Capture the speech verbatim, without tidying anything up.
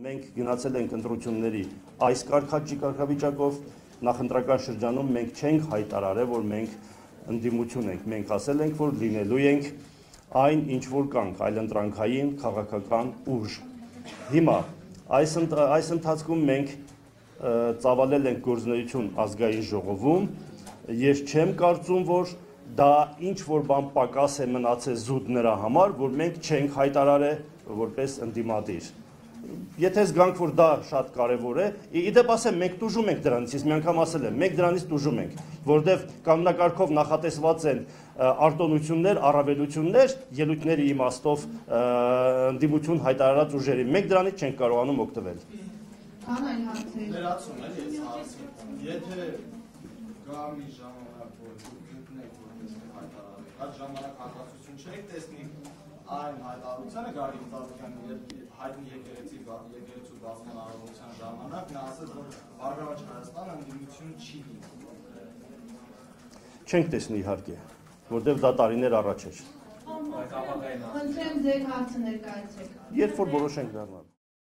մենք գնացել ենք ընտրությունների այս կարգավիճակով, նախընտրական շրջանում մենք չենք հայտարարել, որ մենք ընդդիմություն ենք, մենք ասել ենք, որ լինելու ենք այն, ինչ որ կանք, այլընտրանքային քաղաքական ուժ։ Հիմա այս ընթացքում մենք ծավալել ենք գործունեություն ազգային ժողովում, ես չեմ կարծում, որ դա ինչ որ բան պակաս է մնացել զուտ նրա համար, որ մենք չենք հայտարարել որպես ընդդիմադիր։ Եթե զգանք, որ դա շատ կարևոր է, իդեպ ասեմ, մենք տուժում ենք դրանից, ես մի անգամ ասել եմ, մենք դրանից տուժում ենք, որտեվ կանոնակարգով նախատեսված են արտոնություններ, առավելություններ, ելույթների իմաստով ընդդիմություն հայտարարած ուժերի, մենք դրանից չենք կարողանում օգտվել։ Անայն հարցեր։ Ներացում եմ, ես հարցում, եթե գա մի ժամանակ, որ գտնեք, որպես հայտարարել, այդ ժամանակ հակասություն չեք տեսնի այն հայտարարությանը Գագիկ Ծառուկյանի հայտնի եկեղեցու բացման արարողության ժամանակ նա ասաց, որ Բարգավաճ Հայաստանը ընդդիմություն չի լինի։ Չենք տեսնի իհարկե, որտեղ դա տարիներ առաջ էր։ Խնդրեմ ձեր հարցը ներկայացրեք։ Երբ որ որոշենք դառնալ։